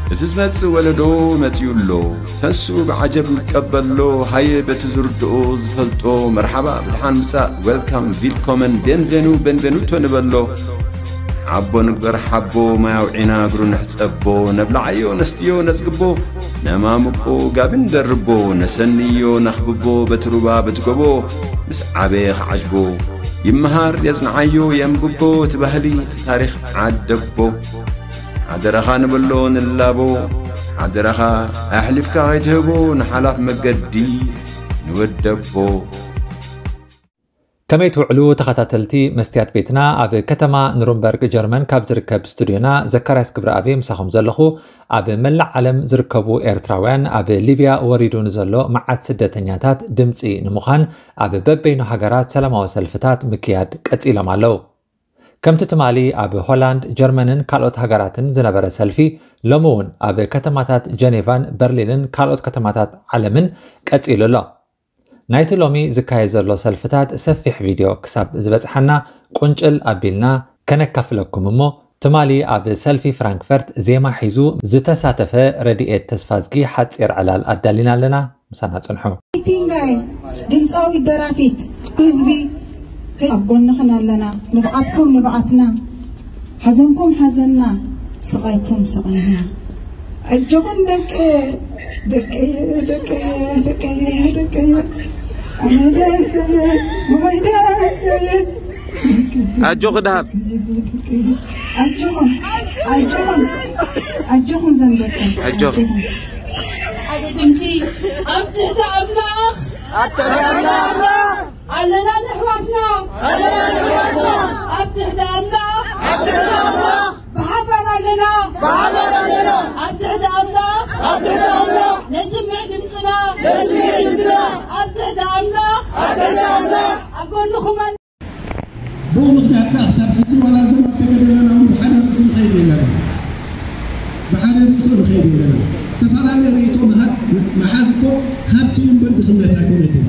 እቲ ዝመጽእ ወለዶ መጺኡ ኣሎ። ተንስኡ ብዓጀብ ንቀበሎ። ሃየ በቲ ዝርድኦ ዝፈልጦ መርሓባ ብድሓን ምጻእ፣ ዌልካም፣ ቪልኮመን፣ ቤንቬኑ፣ ቤንቬኑቶ ንበሎ። ሓቦ ንግበር ሓቦ፣ ማይ ኣውዒና እግሩ ንሕጸቦ። ነብልዓዮ ነስትዮ ነጽግቦ፣ ነማምቆ ጋቢ ንደርቦ። ነሰንዮ ነኽብቦ በቲ ሩባ በቲ ጎቦ። ምስ ዓበየ ክዓጅቦ ይመሃር የጽንዓዮ የንብቦ። እቲ ባህሊ እቲ ታሪኽ ዓደቦ። ሓደራኻ ንበሎ ንላቦ። ሓደራኻ ኣሕሊፍካ ከይትህቦ ንሓላፍ መገዲ ንወደቦ። ከመይ ትውዕሉ ተኸታተልቲ መስትያት ቤትና? ኣብ ከተማ ኑርንበርግ ጀርመን ካብ ዝርከብ ስቱድዮና ዘካርያስ ክብረኣብ ምሳኹም ዘለኹ። ኣብ መላእ ዓለም ዝርከቡ ኤርትራውያን ኣብ ሊብያ ወሪዱ ንዘሎ መዓት ስደተኛታት ድምጺ ንምዃን ኣብ በበይኑ ሃገራት ሰላማዊ ሰልፍታት ምክያድ ቀጺሎም ኣለዉ። ከምቲ ትማሊ ኣብ ሆላንድ፣ ጀርመንን ካልኦት ሃገራትን ዝነበረ ሰልፊ፣ ሎሚ እውን ኣብ ከተማታት ጀኔቫን በርሊንን ካልኦት ከተማታት ዓለምን ቀጺሉ ኣሎ። ናይቲ ሎሚ ዝካየድ ዘሎ ሰልፍታት ሰፊሕ ቪድዮ ክሳብ ዝበጽሓና ቁንጭል ኣቢልና ከነካፍለኩም እሞ፣ ትማሊ ኣብ ሰልፊ ፍራንክፈርት ዜማ ሒዙ ዝተሳተፈ ረድኤት ተስፋዝጊ ሓጺር ዕላል ኣዳሊና ኣለና። ምሳና ጽንሑ። ቲንጋይ ድምፃዊት ደራፊት ህዝቢ ኣብ ጎንኽን ኣለና። ንብዓትኩም ንብዓትና፣ ሓዘንኩም ሓዘንና፣ ስቓይኩም ስቓይና። ኣጆኹም ደቂ ደቂ ደቂ ደቂ ደቂ ኣነ ደቂ ወይ ደቂ ኣጆኺ ደሃብ። ኣጆኹም ኣጆኹም ኣጆኹም ዘንበቀ ኣጆኹም። ሓደ ድምፂ ኣብ ትሕቲ ኣምላኽ ኣብ ትሕቲ ኣምላኽ ኣለና ንሕዋትና። ኣለና ንሕዋትና። ኣብ ትሕቲ ኣምላኽ ኣብ ትሕቲ ኣምላኽ ብሓባር ኣለና። ብሓባር ኣለና። ኣብ ትሕቲ ኣምላኽ ኣብ ትሕቲ ኣምላኽ ነስምዕ ድምፅና። ነስምዕ ድምፅና። ኣብ ትሕቲ ኣምላኽ ኣብ ትሕቲ ኣምላኽ ኣብ ጎንኹም ኣለ። ብኡ ምኽንያት ከኣ ክሳብ ሕጂ ዋላ እዞም ኣብ ተገደለና እውን ብሓደ ርእሲ ንኸይድ የለና። ብሓደ ርእይቶ ንኸይድ የለና። ዝተፈላለየ ርእይቶ ምሃብ፣ ምሓዝ እኮ ሃብቲ እውን እምበር ድኽነት ኣይኮነትን።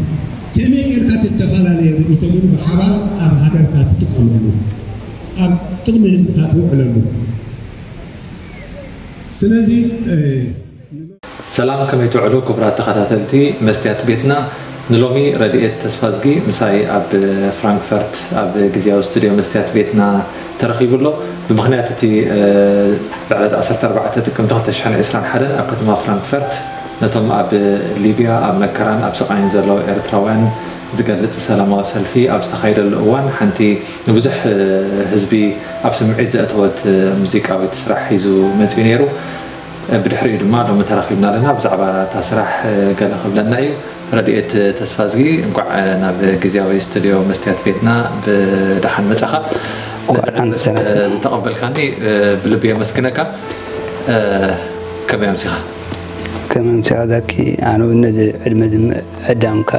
ከመይ ጌርካ እቲ ዝተፈላለየ ርእይቶ ግን ብሓባር ኣብ ሃገርካ ትጥቀመሉ፣ ኣብ ጥቕሚ ህዝብካ ትውዕለሉ። ስለዚ፣ እ፣ ሰላም፣ ከመይ ትውዕሉ ክቡራት ተኸታተልቲ መስትያት ቤትና? ንሎሚ ረድኤት ተስፋዝጊ ምሳይ ኣብ ፍራንክፈርት ኣብ ግዝያዊ ስቱድዮ መስትያት ቤትና ተረኺቡ ኣሎ። ብምኽንያት እቲ፣ እ፣ ብዕለት ዓሰርተ ኣርባዕተ ጥቅምቲ ክልተ ሽሕን ዕስራን ሓደን ኣብ ከተማ ፍራንክፈርት ነቶም ኣብ ሊብያ ኣብ መከራን ኣብ ስቓይን ዘለዉ ኤርትራውያን ዝገልጽ ሰላማዊ ሰልፊ ኣብ ዝተኻየደሉ እዋን፣ ሓንቲ ንብዙሕ ህዝቢ ኣብ ስምዒት ዘእተወት ሙዚቃዊት ስራሕ ሒዙ መጺኡ ነይሩ። ብድሕሪኡ ድማ ሎሚ ተራኺብና ኣለና። ብዛዕባ እታ ስራሕ ገለ ክብለና እዩ። ረድኤት ተስፋዝጊ፣ እንቋዕ ናብ ግዝያዊ ስቱድዮ መስትያት ቤትና ብደሓን መጻኻ። እንቋዕ ነዚ ደሓን መደብ ተሰናበትና። ዝተቐበልካኒ ብልቢ የመስግነካ። ከመይ ኣምሲኻ? ከመይ ኣምሲኻ ዛኪ? ኣነ እውን ነዚ ዕድመ እዚ ምዕዳምካ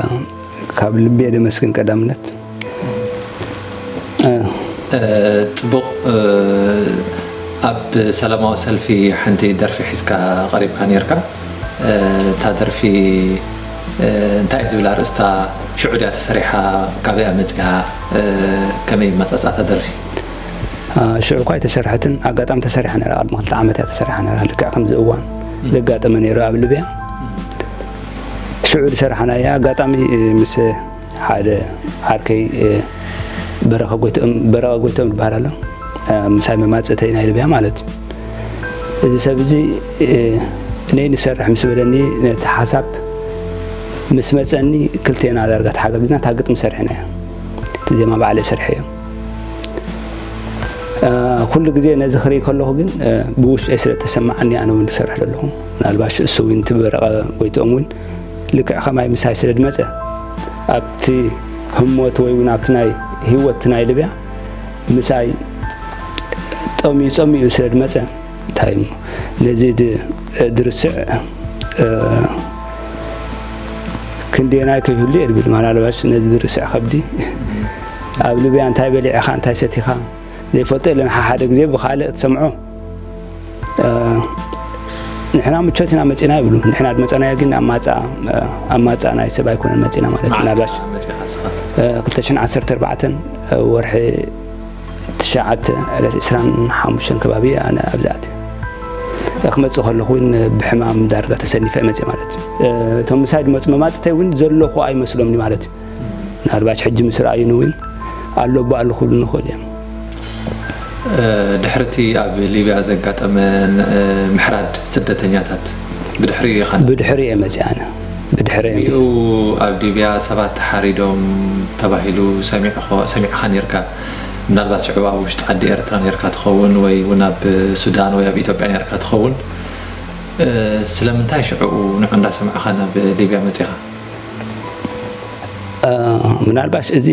ካብ ልቢ እየ ደመስግን ቀዳምነት። እ፣ እ፣ ጽቡቕ፣ እ፣ ኣብ ሰላማዊ ሰልፊ ሓንቲ ደርፊ ሒዝካ ቀሪብካ ነይርካ። እ፣ እታ ደርፊ፣ እ፣ እንታይ እዩ ዝብል ኣርእስታ? ሽዑ ድያ ተሰሪሓ? ካበይ እያ መጺኣ? እ፣ ከመይ መጻጻእታ ደርፊ? አ፣ ሽዑ እኳ ኣይተሰርሐትን፣ ኣጋጣሚ ተሰሪሓ ነይራ፣ ቅድሚ ክልተ ዓመት እያ ተሰሪሓ ነይራ፣ ልክዕ ከምዚ እዋን ዘጋጠመ ነይሩ ኣብ ልብያ። ሽዑ ዝሰራሕናያ ኣጋጣሚ፣ እ፣ ምስ ሓደ ዓርከይ፣ እ፣ በረኸ ጎይትኦም፣ በረኸ ጎይትኦም ዝበሃል ኣሎ። እ፣ ምሳይ መማጽእተይ ናይ ልብያ ማለት እዩ። እዚ ሰብ እዚ፣ እ፣ ነይ ንሰርሕ ምስ በለኒ፣ ነቲ ሓሳብ ምስ መጸኒ፣ ክልቴና ዳርጋ ተሓጋጊዝና እታ ግጥሚ ሰሪሕናያ። እቲ ዜማ ባዕለይ ሰሪሐዮ። እ፣ ኩሉ ግዜ ነዚ ክርኢ ከለኹ ግን፣ እ፣ ብውሽጠይ ስለ እተሰማዓኒ ኣነ እውን ዝሰርሕ ዘለኹ። ምናልባሽ እሱ እውን እቲ በረቐ ጎይትኦም እውን ልክዕ ከማይ ምሳይ ስለ ዝመጸ፣ ኣብቲ ህሞት ወይ እውን ኣብቲ ናይ ህይወት ናይ ልብያ ምሳይ ጠምዩ ጸሚኡ ስለ ዝመጸ፣ እንታይ እሞ ነዚ ድ-፣ ድርስዕ፣ እ፣ ክንደየናይ ከይህሉ እየ ዝብል። ምናልባሽ ነዚ ድርስዕ ከብዲ ኣብ ልብያ እንታይ በሊዕኻ፣ እንታይ ሰቲኻ ዘይፈልጦ የለን። ሓሓደ ግዜ ብኻልእ ክትሰምዖ፣ እ፣ ንሕና ምቾት ኢና መጺና ይብሉ። ንሕና ዝመጸናዮ ግን ኣብ ማጻ፣ እ፣ ኣብ ማጻ ናይ ሰብ ኣይኮነን መጺና ማለት እዩ። መዓስ ምናልባሽ፣ መጺኻ ንስኻ? እ፣ ክልተ ሽሕን ዓሰርተ ኣርባዕተን፣ እ፣ ወርሒ ትሽዓተ ዕለት ዕስራን ሓሙሽተን ከባቢ ኣነ ኣብዚ ኣትየ። ክመጽእ ከለኹ እውን ብሕማም ዳርጋ ተሰኒፈ እየ መጽእ ማለት እዩ። እቶም ምሳይ ዝመጹ መማጽእተይ እውን ዘለኹ ኣይመስሎምኒ ማለት እዩ። ምናልባሽ ሕጂ ምስ ረኣዩኒ እውን ኣሎ እባ ኣለኹ ክብሉ ንኽእል እዮም። ድሕርቲ ኣብ ሊብያ ዘጋጠመ ምሕራድ ስደተኛታት ብድሕሪ ኢኻ ብድሕሪ እየ መጽእ ኣነ ብድሕሪ እየ ኡ ኣብ ሊብያ ሰባት ተሓሪዶም ተባሂሉ ሰሚዕኻ ነርካ? ምናልባት ሽዑ ኣብ ውሽጢ ዓዲ ኤርትራ ነርካ ትኸውን ወይ እውን ኣብ ሱዳን ወይ ኣብ ኢትዮጵያ ነርካ ትኸውን። ስለምንታይ ሽዑ ንዑ እንዳሰማዕኻ ናብ ሊብያ መጺኻ? ምናልባሽ እዚ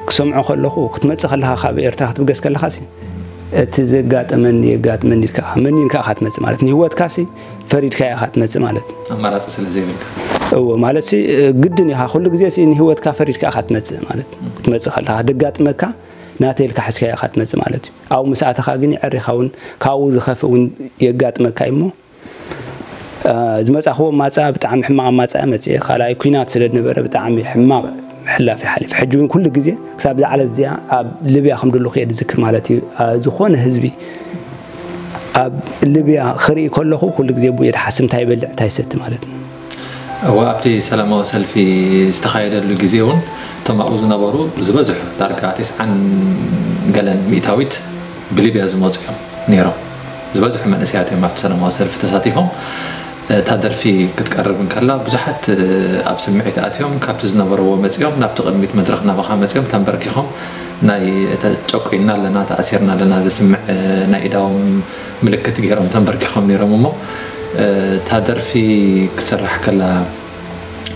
ክሰምዖ ከለኹ ክትመጽእ ከለኻ ካብ ኤርትራ ክትብገስ ከለኻ ሲ እቲ ዘጋጠመኒ የጋጥመኒ ኢልካ መኒንካ ኢኻ ትመጽእ ማለት ንህይወትካ ሲ ፈሪድካ ኢኻ ትመጽእ ማለት ኣማራጺ ስለ ዘይብልካ እዎ ማለት ሲ ግድን ኢኻ ኩሉ ግዜ ሲ ንህይወትካ ፈሪድካ ኢኻ ትመጽእ ማለት ክትመጽእ ከለኻ ደጋጥመካ ናተይ ኢልካ ሕዝካ ኢኻ ትመጽእ ማለት እዩ ኣብኡ ምስ ኣተኻ ግን የዕሪኻ እውን ካብኡ ዝኸፍእ እውን የጋጥመካ እዩ እሞ ዝመጻኽዎ ማጻ ብጣዕሚ ሕማቕ ማጻ መጽየ ካልኣይ ኩናት ስለ ዝነበረ ብጣዕሚ ሕማቕ ሕላፍ ይሓልፍ ሕጂ እውን ኩሉ ግዜ ክሳብ ዝዓለት እዚኣ ኣብ ልብያ ከም ደለኹ እየ ዝዝክር ማለት እዩ ዝኾነ ህዝቢ ኣብ ልብያ ክርኢ ከለኹ ኩሉ ግዜ ብኡ እየ ዝሓስብ እንታይ ይበልዕ እንታይ ይሰቲ ማለት እዩ እወ ኣብቲ ሰላማዊ ሰልፊ ዝተኻየደሉ ግዜ እውን እቶም ኣብኡ ዝነበሩ ዝበዝሑ ዳርጋ ተስዓን ገለን ሚእታዊት ብሊብያ ዝመፁ እዮም ነይሮም ዝበዝሑ መንእሰያት እዮም ኣብቲ ሰላማዊ ሰልፊ ተሳቲፎም እታ ደርፊ ክትቀርብ እንከላ ብዙሓት ኣብ ስምዒት ኣትዮም ካብቲ ዝነበርዎ መፂኦም ናብቲ ቅድሚት መድረክ ናባኻ መፂኦም ተንበርኪኾም ናይ ተጨቁና ኣለና ተኣሲርና ኣለና ዘስምዕ ናይ ኢዳዎም ምልክት ገይሮም ተንበርኪኾም ነይሮም እሞ እታ ደርፊ ክስራሕ ከላ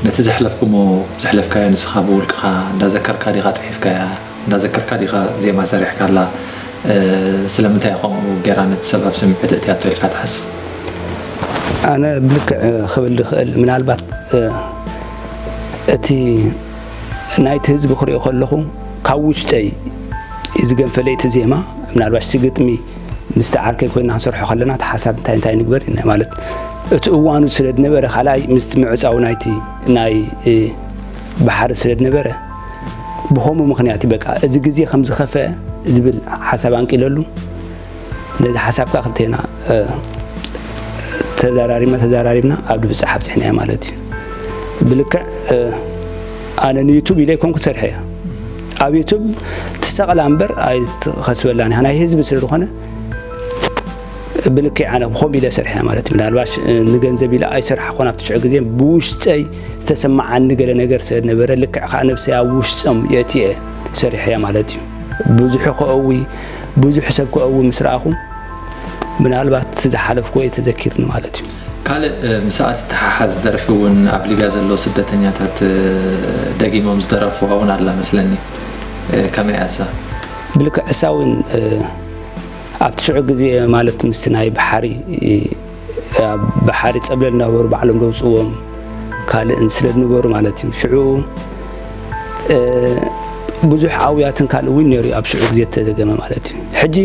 ነቲ ዘሕለፍኩሞ ዘሕለፍካዮ ንስኻ ብውልቅኻ እንዳዘከርካ ዲኻ ፅሒፍካያ እንዳዘከርካ ዲኻ ዜማ ሰሪሕካላ ስለምንታይ ከምኡ ገይራ ነቲ ሰብ ኣብ ስምዒት እትያቶ ኢልካ ትሓስብ ኣነ ብልክዕ ክብል ዝኽእል ምናልባት እቲ ናይቲ ህዝቢ ክሪኦ ከለኹ ካብ ውሽጠይ ዝገንፈለይ እቲ ዜማ ምናልባሽ እቲ ግጥሚ ምስቲ ዓርከይ ኮይና ክንሰርሖ ከለና እቲ ሓሳብ እንታይ እንታይ ንግበር ኢና ማለት እቲ እዋኑ ስለ ዝነበረ ካልኣይ ምስቲ ምዕፃው ናይቲ ናይ ባሕሪ ስለ ዝነበረ ብኸምኡ ምክንያት በቃ እዚ ግዜ ከም ዝኸፈአ ዝብል ሓሳብ ኣንቂለሉ ነዚ ሓሳብ ከዓ ክልቴና ተዘራሪብና ተዘራሪብና ኣብ ድብፃሕ ኣብፅሕናዮ ማለት እዩ ብልክዕ ኣነ ንዩቱብ ኢለ ይኮንኩ ዝሰርሐ እያ ኣብ ዩቱብ ትሰቕላ እምበር ኣይትኸስበላን ኢኻ ናይ ህዝቢ ስለ ዝኾነ ብልክዕ ኣነ ብኸምኡ ኢለ ሰርሐ ማለት እዩ ምናልባሽ ንገንዘብ ኢለ ኣይሰርሓ ኮን ኣብቲ ሽዑ ግዜ ብውሽጠይ ዝተሰማዓኒ ገለ ነገር ስለ ዝነበረ ልክዕ ከዓ ነብሰይ ኣብ ውሽጦም የእትየ ሰሪሐ ማለት እዩ ብዙሑ ከእዊ ብዙሕ ሰብ ከእዊ ምስ ረኣኹ ምናልባት ዝሓለፍኩ ወይ ተዘኪርኒ ማለት እዩ ካልእ ምስኣ ትተሓሓዝ ደርፊ እውን ኣብ ሊብያ ዘለዉ ስደተኛታት ደጊሞም ዝደረፍዋ እውን ኣላ መስለኒ ከመይ ኣሳ ብልክዕ እሳ እውን ኣብቲ ሽዑ ግዜ ማለት ምስቲ ናይ ባሓሪ ኣብ ባሓሪ ፀብለል እናበሩ ባዕሎም ዘውፅዎም ካልእን ስለ ዝነበሩ ማለት እዩ ሽዑ ብዙሕ ኣውያትን ካልእ እውን ነይሩ ኣብ ሽዑ ግዜ ተደገመ ማለት እዩ ሕጂ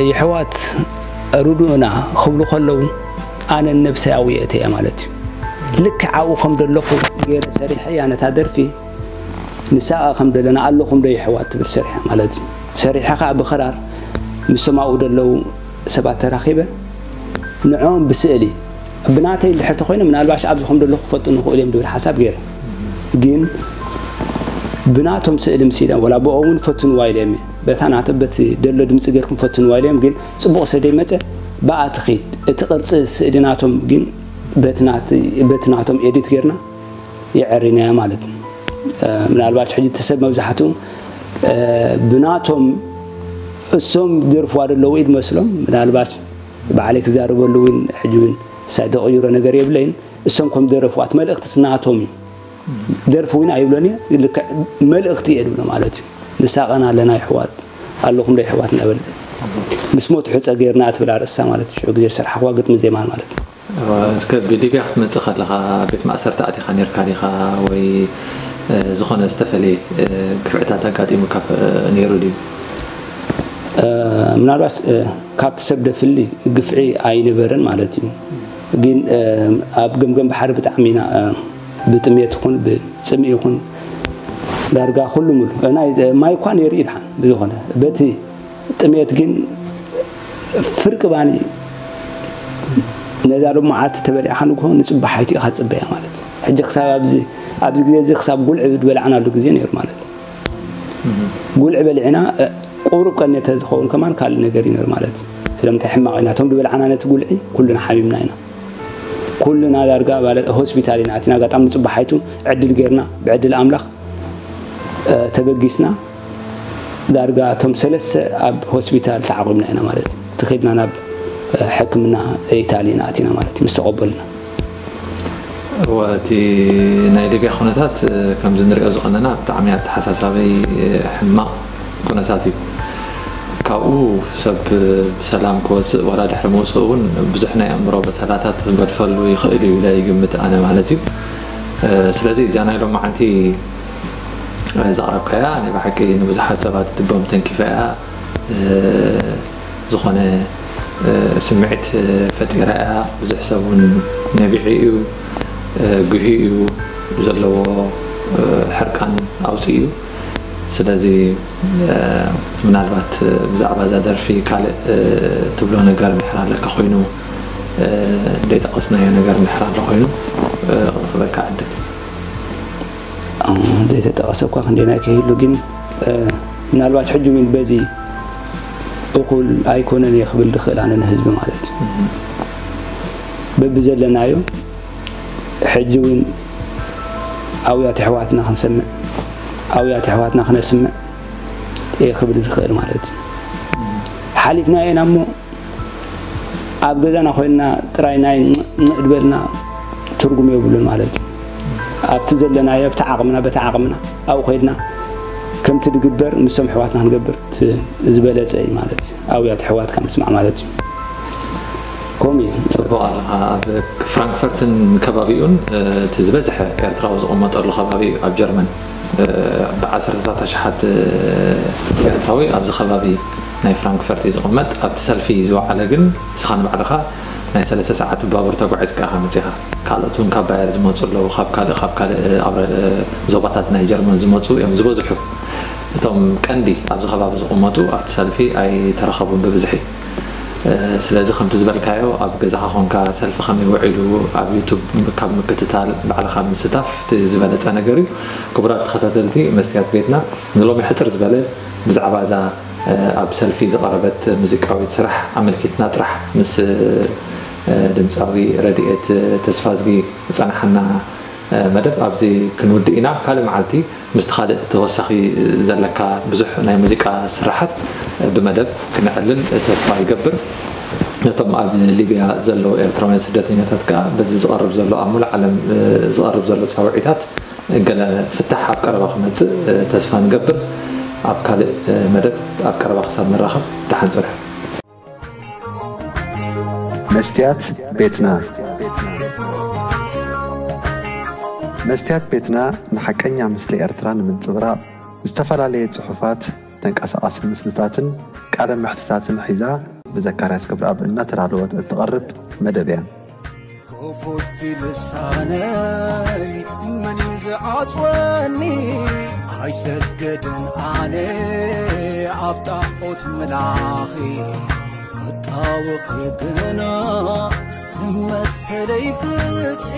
የሕዋት ርድኡና ክብሉ ከለዉ ኣነ ነብሰይ ኣውየእተ እያ ማለት እዩ ልክዕ ኣብኡ ከም ዘለኹ ገይረ ሰሪሐ እያ ነታ ደርፊ ንሳ ከም ዘለና ኣለኹም ዶ የሕዋት ትብል ሰሪሐ ማለት እዩ ሰሪሐ ከዓ ብክራር ምስቶም ኣብኡ ዘለዉ ሰባት ተራኺበ ንዕኦም ብስእሊ ብናተይ እንድሕር ተኮይነ ምናልባሽ ኣብዚ ከም ዘለኹ ክፈልጡ ንኽእሉ እዮም ዝብል ሓሳብ ገይረ ግን ብናቶም ስእሊ ምስ ኢለ ወላ ብኦም እውን ፈትንዋ ኢለ እዮም በታ ናተ በቲ ደሎ ድምፂ ገርኩም ፈትንዋ ኢለ እዮም ግን ፅቡቕ ስለ ደይመፀ ብኣ ትኺድ እቲ ቅርፂ ስእሊ ናቶም ግን በቲ ናቶም ኤዲት ገርና የዐሪናያ ማለት እዩ ምናልባት ሕጂ እቲ ሰብ መብዛሕትኡ ብናቶም እሶም ደርፍዋ ዘለዉ ኢድ መስሎም ምናልባት ባዕለይ ክዛረበሉ እውን ሕጂ እውን ሳይ ደቕይሮ ነገር የብለይን እሶም ከም ደረፍዋ እቲ መልእኽቲ ስናቶም እዩ ደርፊ እውን ኣይብሎን እየ ልክዕ መልእኽቲ እየ ድብሎ ማለት እዩ ንሳቐና ኣለና ይሕዋት ኣለኹም ዶ ይሕዋት እናበለ ምስ ሞት ሕፀ ገይርና ትብል ኣርእስታ ማለት እዩ ሽዑ ግዜ ዝሰርሓኽዋ ግጥሚ ዜማን ማለት እዩ እስከ ብሊብያ ክትመፅእ ከለኻ ቤት ማእሰርቲ ኣቲኻ ነርካ ዲኻ ወይ ዝኾነ ዝተፈለየ ግፍዕታት ኣጋጢሙ ካብ ነይሩ ድዩ ምናልባት ካብቲ ሰብ ደፍሊ ግፍዒ ኣይነበረን ማለት እዩ ግን ኣብ ገምገም ባሕሪ ብጣዕሚ ኢና ብጥሜት ይኹን ብፅምኢ ይኹን ዳርጋ ኩሉ ሙሉ ናይ ማይ እኳ ነይሩ ይድሓን ብዝኾነ በቲ ጥሜት ግን ፍርቂ ባኒ ነዛ ሎማዓቲ ተበሊዕካ ንግሆ ንፅባሓይቱ ኢኻ ትፅበያ ማለት እዩ። ሕጂ ክሳብ ኣብዚ ኣብዚ ግዜ እዚ ክሳብ ጉልዒ ዝበላዕናሉ ግዜ ነይሩ ማለት እዩ። ጉልዒ በሊዕና ቁሩብ ቀን ተዝኸውን ከማን ካልእ ነገር ይነር ማለት እዩ። ስለምንታይ ሕማቕ ኢና እቶም ዝበላዕና ነቲ ጉልዒ ኩልና ሓሚምና ኢና። ኩልና ዳርጋ ማለት ሆስፒታል ኢና ኣቲና ኣጋጣሚ ንፅባሓይቱ ዕድል ጌርና ብዕድል ኣምላኽ ተበጊስና ዳርጋ እቶም ሰለስተ ኣብ ሆስፒታል ተዓቑብና ኢና ማለት እዩ። ትኸድና ናብ ሕክምና ኢታሊ ኢና ኣቲና ማለት እዩ ምስ ተቐበልና። እወ እቲ ናይ ሊብያ ኩነታት ከምዚ ንሪኦ ዝቐነና ብጣዕሚ ኣተሓሳሳበይ ሕማቕ ኩነታት እዩ። ካብኡ ሰብ ብሰላም ክወፅእ ዋላ ድሕሪ ምውፅእ እውን ብዙሕ ናይ ኣእምሮ በሰላታት ክገድፈሉ ይኽእል እዩ ኢለ ይግምት ኣነ ማለት እዩ። ስለዚ እዛ ናይ ሎማዓንቲ ዘቕረብካያ ናይ ብሓቂ ንብዙሓት ሰባት ልቦም ተንኪፋ እያ። ዝኾነ ስምዒት ፈጢራ እያ። ብዙሕ ሰብ እውን ነቢዑ እዩ፣ ጉሂ እዩ፣ ዘለዎ ሕርቃን ኣውፅኡ እዩ። ስለዚ ምናልባት ብዛዕባ እዛ ደርፊ ካልእ ትብሎ ነገር እንድሕር ኣለካ ኮይኑ ዘይጠቐስናዮ ነገር እንድሕር ኣሎ ኮይኑ ክረክበካ ዕድል ዘይተጠቐሰ እኳ ክንደይናይ ከይህሉ ግን ምናልባት ሕጂ እውን በዚ እኹል ኣይኮነን እየ ክብል ዝኽእል ኣነ ንህዝቢ ማለት እዩ። በብዘለናዮ ሕጂ እውን ኣውያት ኣሕዋትና ክንሰምዕ ኣውያት ኣሕዋትና ክነስምዕ እየ ክብል ዝኽእል ማለት እዩ። ሓሊፍና ኢና እሞ ኣብ ገዛና ኮይንና ጥራይ ናይ ንእድበልና ትርጉም የብሉን ማለት እዩ። ኣብቲ ዘለናዮ ኣብቲ ዓቕምና በቲ ዓቕምና ኣብኡ ኮይድና ከምቲ ዝግበር ምስቶም ኣሕዋትና ክንገብር ዝበለፀ እዩ ማለት እዩ። ኣብያት ኣሕዋትካ ምስማዕ ማለት እዩ። ከምኡ እዩ። ፅቡቕ ኣለኻ። ኣብ ፍራንክፈርትን ከባቢኡን እቲ ዝበዝሐ ኤርትራዊ ዝቕመጠሉ ከባቢ እዩ ኣብ ጀርመን። ብዓሰርተታት ኣሽሓት ኤርትራዊ ኣብዚ ከባቢ ናይ ፍራንክፈርት እዩ ዝቕመጥ። ኣብቲ ሰልፊ ዝወዓለ ግን ንስኻ ንባዕልኻ ናይ ሰለስተ ሰዓት ብባቡር ተጓዒዝካ ኢኻ መፂኻ። ካልኦት እውን ካብ ባየር ዝመፁ ኣለዉ፣ ካብ ካልእ ካብ ካልእ ዞባታት ናይ ጀርመን ዝመፁ እዮም ዝበዝሑ። እቶም ቀንዲ ኣብዚ ከባቢ ዝቕመጡ ኣብቲ ሰልፊ ኣይተረኸቡን ብብዝሒ። ስለዚ ከምቲ ዝበልካዮ ኣብ ገዛኻ ኮንካ ሰልፊ ከመይ ውዒሉ ኣብ ዩቱብ ካብ ምክትታል ባዕልኻ ምስታፍ እቲ ዝበለፀ ነገር እዩ። ክቡራት ተኸታተልቲ መስትያት ቤትና ንሎሚ ሕፅር ዝበለ ብዛዕባ እዛ ኣብ ሰልፊ ዝቐረበት ሙዚቃዊት ስራሕ ኣመልኪትና ጥራሕ ምስ ድምፃዊ ረድኤት ተስፋዝጊ ዝፀናሓና መደብ ኣብዚ ክንውድእ ኢና። ካልእ መዓልቲ ምስቲ ካልእ ተወሳኺ ዘለካ ብዙሕ ናይ ሙዚቃ ስራሓት ብመደብ ክነዕልል ተስፋ ይገብር። ነቶም ኣብ ሊብያ ዘለዉ ኤርትራውያን ስደተኛታት ከኣ በዚ ዝቐርብ ዘሎ ኣብ ሙሉእ ዓለም ዝቐርብ ዘሎ ፃውዒታት ገለ ፍታሕ ኣብ ቀረባ ክመፅእ ተስፋ ንገብር። ኣብ ካልእ መደብ ኣብ ቀረባ ክሳብ ንራኸብ ደሓን ፅንሑ። መስትያት ቤትና መስትያት ቤትና ንሓቀኛ ምስሊ ኤርትራ ንምንጽብራቕ ዝተፈላለየ ጽሑፋት፣ ተንቀሳቓሲ ምስልታትን ቃለ መሕትታትን ሒዛ ብዘካርያስ ክብረኣብ እናተዳለወት እትቐርብ መደብ እያ። ክፉቲ ልሳነይ መን እዩ ዝዓጽወኒ? ኣይሰግድን ኣነ ኣብ ጣዖት ምላኺ ክጣወኺ ግና ንመሰለይ ፍትሒ